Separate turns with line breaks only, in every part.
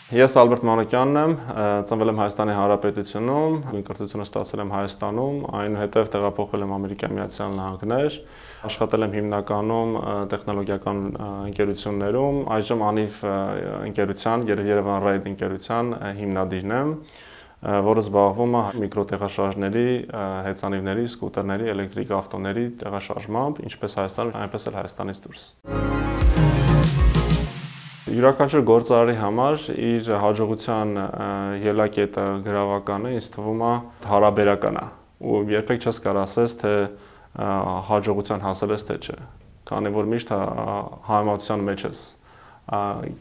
Ես Ալբերտ Մանուկյանն եմ, ծնվել եմ Հայաստանի Հանրապետությունում, կրթությունը ստացել եմ Հայաստանում, այնուհետև տեղափոխվել եմ Ամերիկայի Միացյալ Նահանգներ, աշխատել եմ հիմնականում տեխնոլոգիական ընկերություններում, այժմ Անիվ ընկերության, Երևան Ride ընկերության հիմնադիրն եմ, որը զբաղվում է միկրոտեղաշարժների, հեծանիվների, սկուտերների, էլեկտրիկ ավտոների տեղաշարժմամբ, ինչպես Հայաստանում, այնպես էլ Հայաստանից դուրս։ Յուրաքանչյուր գործարարի համար իր հաջողության ելակետը գրավականը ինձ թվում է հարաբերական է ու երբեք չես կարող ասես թե հաջողության հասել ես թե չէ, քանի որ միշտ համեմատության մեջ ես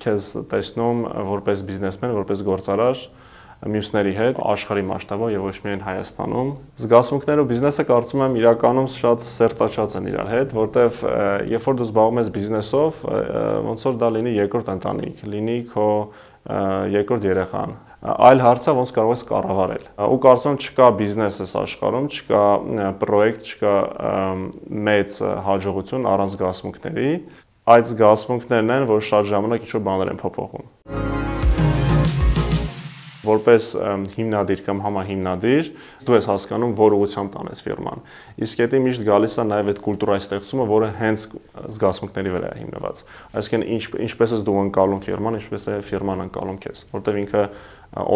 քեզ տեսնում որպես բիզնեսմեն, որպես գործարար մյուսների հետ աշխարհի մասշտաբով եւ ոչ միայն Հայաստանում։ Զգացմունքները ու բիզնեսը կարծում եմ իրականում շատ սերտաչած են իրար հետ, որտեվ երբ որ դու զբաղվում ես բիզնեսով, ոնց որ դա լինի երկրորդ ընտանիք, լինի քո երկրորդ երեխան։ Այլ հարցը ոնց կարող ես կառավարել։ Ու կարծում եմ չկա բիզնես այս աշխարհում, չկա պրոյեկտ, չկա մեծ հաջողություն առանց զգացմունքների։ Այդ զգացմունքներն են, որ շատ ժամանակ ինչ-որ բաներ են փոփոխում։ Որպես հիմնադիր կամ համահիմնադիր դու ես հասկանում, որ ուղղությամբ տանես ֆիրման։ Իսկ դա միշտ գալիս է նաև այդ կուլտուրայի ստեղծումը, որը հենց զգացմունքների վրա է հիմնված։ Այսինքն ինչպես ես դու ընկալում ֆիրման, ինչպես է ֆիրման ընկալում քեզ, որտեղ ինքը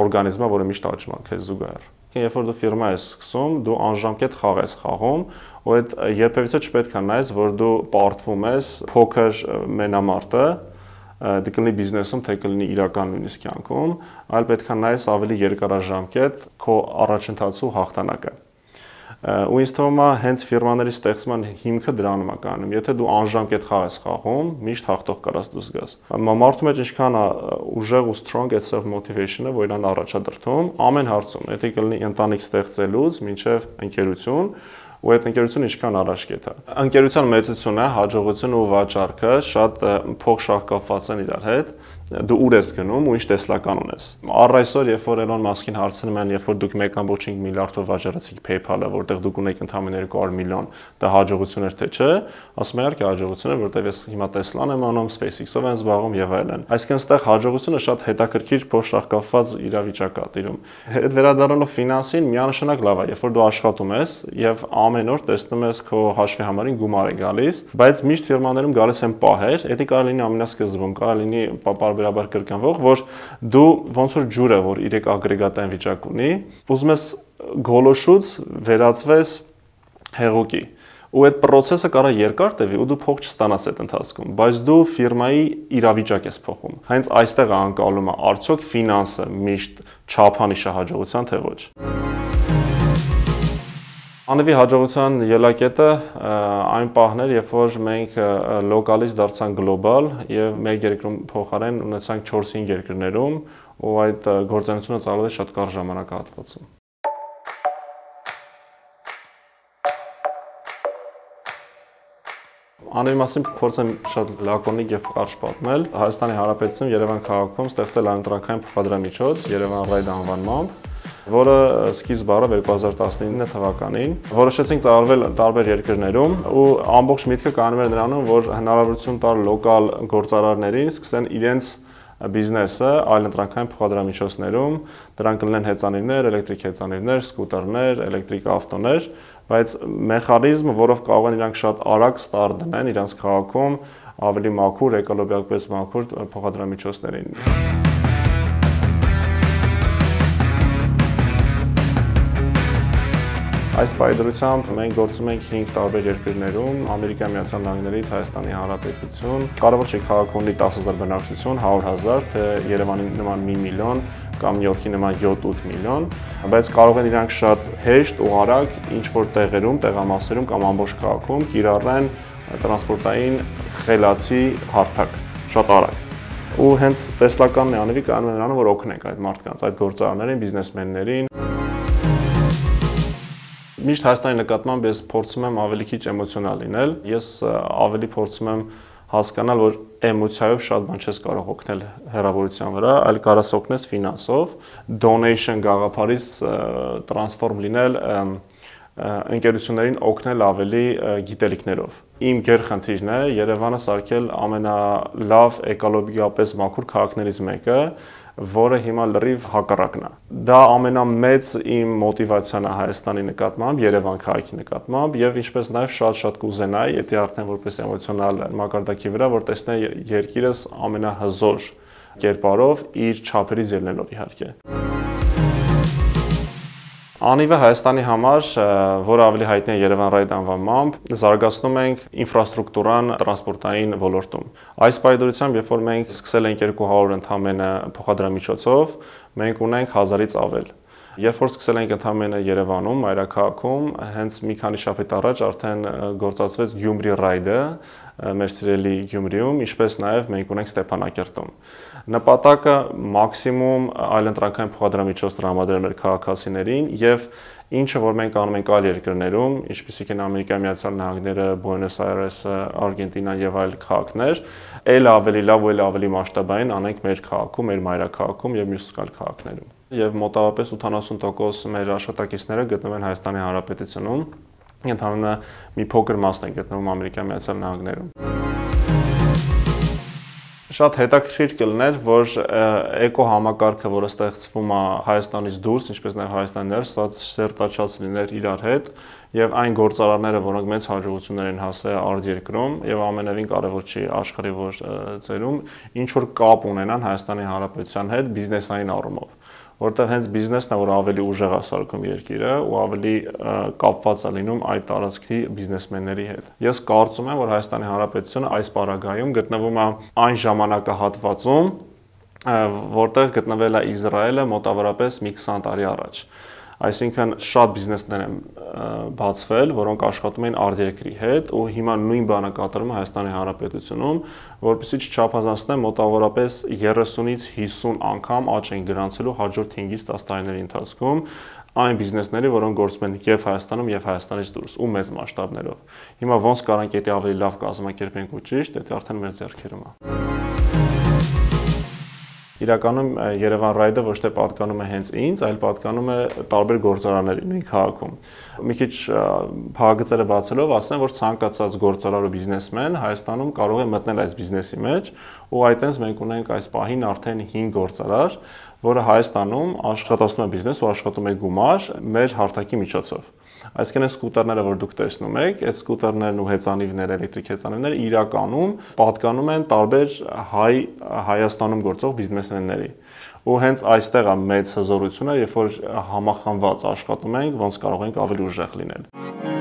օրգանիզմ է, որը միշտ աճում է քեզ զուգահեռ։ Երբ որ դու ֆիրմա ես սկսում, դու անժամկետ խաղ ես խաղում, ու այդ երբևիցե չպետք է նայես, որ դու պարտվում ես փոքր մենամարտը դե կլինի բիզնեսում, թե կլինի իրական նույնիսկ կյանքում, այլ պետք է նայես ավելի երկարաժամկետ քո առաջընթացու հաղթանակը։ Ու ինձ թվում է հենց ֆիրմաների ստեղծման հիմքը դրանում է կանում։ Եթե դու անժամկետ խաղ ես խաղում, միշտ հաղթող կարաս դուրս գաս։ Մարդու մեջ ինչքան է ուժեղ ու strong այդ self motivation-ը, որ իրան առաջադրթում ամեն հարցում, եթե կլինի ընտանիք ստեղծելուց մինչև ընկերություն, ու այդ ընկերությունը ինչքան առաջ կետա։ Ընկերության մեծությունը, հաջողությունը ու վաճառքը շատ փոխշահկապված են իրար հետ։ Դու ուր ես գնում ու ինչ տեսլական ունես։ Առ այսօր, երբ որ Էլոն Մասկին հարցնում են, երբ որ դուք 1.5 միլիարդով վաճառեցիք PayPal-ը, որտեղ դուք ունեք ընդամենը 200 միլիոն, դա հաջողություն էր թե չէ, ասում եմ իհարկե հաջողություն է, որտեղ ես հիմա Tesla-ն եմ անում, SpaceX-ով եմ զբաղվում եւ այլն։ Այսինքն այստեղ հաջողությունը շատ հետաքրքիր փոխշահկապված իրավիճակ է տիրում։ Այդ վերադառնալով ֆինանսին միանշանակ լավ է, երբ որ դու աշխատում ես եւ ամեն օր տեսնում ես քո հաշվի համարին գումար է գալիս, բայց միշտ ֆիրմաներում գալիս են պահեր, դա կարող լինի ամենասկզբում, կարող լինի պարբերաբար կրկնվող, որ դու ոնց որ ջուրը, որ 3 ագրեգատային վիճակ ունի, ուզում ես գոլոշուց վերածվես հեղուկի։ Ու այդ process-ը կարող է երկար տևի ու դու փող չստանաս այդ ընթացքում, բայց դու ֆիրմայի իրավիճակ ես փոխում։ Հենց այստեղ է անկալումը, արդյոք ֆինանսը միշտ չափանիշ է հաջողության, թե ոչ։ Անվի հաջողության ելակետը այն պահն էր, երբ որ մենք լոկալից դարձանք գլոբալ եւ մեկ երկրում փոխարեն ունեցանք 4-5 երկրներում, ու այդ գործունեությունը ծավալվել է շատ կարճ ժամանակահատվածում։ Անվի մասին փորձեմ շատ լակոնիկ եւ կարճ պատմել։ Հայաստանի Հանրապետությունում Երևան քաղաքում ստեղծել է ընտրական փոխադրամիջոց Երևան Ride անվանմամբ, որը սկիզբ առավ 2019 թվականին։ Որոշեցինք ծառայել տարբեր երկրներում ու ամբողջ միտքը կանում էր նրանում, որ հնարավորություն տալ լոկալ գործարարներին սկսեն իրենց բիզնեսը այլ ընտրական փոխադրամիջոցներում, դրանք կլինեն հեծանիվներ, էլեկտրիկ հեծանիվներ, սկուտերներ, էլեկտրիկ ավտոներ, բայց մեխանիզմը, որով կարող են իրանք շատ արագ ստարտ դնեն իրանք քաղաքում ավելի մաքուր, էկոլոգիապես մաքուր փոխադրամիջոցներին։ Այս պայդրությամբ մենք գործում ենք 5 տարբեր երկրներում, Ամերիկայի Միացյալ Նահանգներից Հայաստանի Հանրապետություն, կարևոր չէ քաղաք ունի 10,000 բնակչություն, 100,000, թե Երևանի նման 1 միլիոն կամ Նյու Յորքի նման 7-8 միլիոն, բայց կարող են իրանք շատ հեշտ ու արագ ինչ-որ տեղերում, տեղամասերում կամ ամբողջ քաղաքում կիրառեն տրանսպորտային խելացի հարթակ, շատ արագ։ Ու հենց տեսլականն է անվի կանում է նրանում, որ օգնենք այդ մարդկանց, այդ գործարարներին, բիզնեսմեններին։ Միշտ Հայաստանի նկատմամբ ես փորձում եմ ավելի քիչ էմոցիոնալ լինել, ես ավելի փորձում եմ հասկանալ, որ էմոցիայով շատ բան չես կարող օգնել հեռավորության վրա, այլ կարաս օգնես ֆինանսով, donation գաղափարից տրանսֆորմ լինել ընկերություններին օգնել ավելի գիտելիքներով։ Իմ գերխնդիրն է Երևանը սարքել ամենալավ էկոլոգիապես մաքուր քաղաքներից մեկը, որը հիմա լրիվ հակառակն է։ Դա ամենամեծ իմ մոտիվացիան է Հայաստանի նկատմամբ, Երևան քաղաքի նկատմամբ եւ ինչպես նաեւ շատ կուզենայի, եթե արդեն որպես էմոցիոնալ մակարդակի վրա, որ տեսնեի երկիրս ամենահզոր կերպարով իր չափերից ելնելով իհարկե։ Անիվը Հայաստանի համար, որը ավելի հայտնի է Երևան Ride անվանմամբ, զարգացնում ենք ինֆրաստրուկտուրան տրանսպորտային ոլորտում։ Այս պայմանությամբ, երբ որ մենք սկսել ենք 200 ընդամենը փոխադրամիջոցով, մենք ունենք 1000-ից ավել։ Երբ որ սկսել ենք ընդամենը Երևանում, մայրաքաղաքում, հենց մի քանի շաբաթ առաջ արդեն գործածվեց Գյումրի Ride-ը, մեր սիրելի Գյումրիում, ինչպես նաև մենք ունենք Ստեփանակերտում։ Նպատակը մաքսիմում այլընտրանքային փոխադրամիջոց տրամադրել մեր քաղաքացիներին եւ ինչը որ մենք անում ենք այլ երկրներում, ինչպիսիք են Ամերիկայի Միացյալ Նահանգները, Բուենոս Այրեսը, Արգենտինան եւ այլ քաղաքներ, ել ավելի լավ ու ել ավելի մասշտաբային անենք մեր քաղաքում, մեր մայրաքաղաքում եւ մյուս քաղաքներում։ Եվ մոտավորապես 80% մեր աշխատակիցները գտնվում են Հայաստանի Հանրապետությունում, ընդհանրապես մի փոքր մասն է գտնվում Ամերիկայի Միացյալ Նահանգներում։ Շատ հետաքրքիր կլիներ, որ էկո համակարգը, որը ստեղծվում է Հայաստանից դուրս, ինչպես նաև Հայաստանի ներս, սերտաչած լիներ իրար հետ, եւ այն գործարարները, որոնք մեծ հաջողություններ են հասել արտերկրում եւ ամենևին կարեւոր չի աշխարհի որ ծերում, ինչ որ կապ ունենան Հայաստանի Հանրապետության հետ բիզնեսային առումով, որտեղ հենց բիզնեսն է, որ ավելի ուժեղ է սարքում երկիրը ու ավելի կապված է լինում այդ տարածքի բիզնեսմենների հետ։ Ես կարծում եմ, որ Հայաստանի Հանրապետությունը այս պարագայում գտնվում է այն ժամանակահատվածում, որտեղ գտնվել է Իսրայելը մոտավորապես մի 20 տարի առաջ։ Այսինքն շատ բիզնեսներ են բացվել, որոնք աշխատում են արտերկրի հետ ու հիմա նույն բանը կատարում է Հայաստանի Հանրապետությունում, որովհետեւ չափազանցնեմ մոտավորապես 30-ից 50 անգամ աճ են գրանցելու հաջորդ 5-ից 10 տարիների ընթացքում այն բիզնեսների, որոնք գործում են եւ Հայաստանում եւ Հայաստանից դուրս ու մեծ մասշտաբներով։ Հիմա ոնց կարանք դա ավելի լավ կազմակերպենք ու ճիշտ, դա արդեն մեր ձեռքերում է։ Իրականում Երևան Ride-ը ոչ թե պատկանում է հենց ինձ, այլ պատկանում է տարբեր գործարանների նույն քաղաքում։ Մի քիչ փակագծերը բացելով ասեմ, որ ցանկացած գործարար ու բիզնեսմեն Հայաստանում կարող է մտնել այս բիզնեսի մեջ, ու այդտենց մենք ունենք այս պահին արդեն 5 գործարար, որը Հայաստանում աշխատացնում է բիզնես ու աշխատում է գումար մեր հարթակի միջոցով։ Այսինքն այս սկուտերները, որ դուք տեսնում եք, այդ սկուտերներն ու հեծանիվները, էլեկտրիկ հեծանիվները իրականում պատկանում են տարբեր Հայաստանում գործող բիզնեսմենների։ Ու հենց այստեղ է մեծ հզորությունը, երբ որ համախմբված աշխատում ենք, ոնց կարող ենք ավելի ուժեղ լինել։